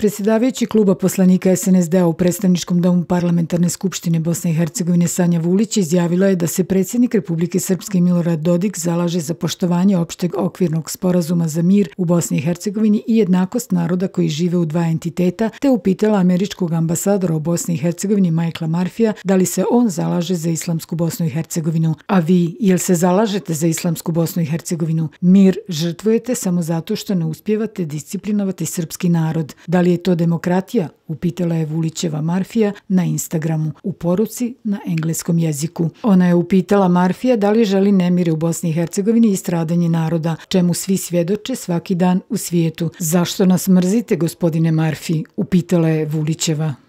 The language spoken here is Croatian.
Predsjedavajući kluba poslanika SNSD-a u predstavničkom domu Parlamentarne skupštine Bosne i Hercegovine Sanja Vulić izjavila je da se predsjednik Republike Srpske Milorad Dodik zalaže za poštovanje opšteg okvirnog sporazuma za mir u Bosni i Hercegovini i jednakost naroda koji žive u dva entiteta, te upitala američkog ambasadora u Bosni i Hercegovini Michaela Murphyja da li se on zalaže za islamsku Bosnu i Hercegovinu. A vi, jel se zalažete za islamsku Bosnu i Hercegovinu? Mir žrtvujete samo zato što ne uspijevate disciplinovati srpski narod. Da li je to demokratija? Upitala je Vulićeva Murphyja na Instagramu u poruci na engleskom jeziku. Ona je upitala Murphyja da li želi nemire u Bosni i Hercegovini i stradanje naroda, čemu svi svjedoče svaki dan u svijetu. Zašto nas mrzite, gospodine Murphy? Upitala je Vulićeva.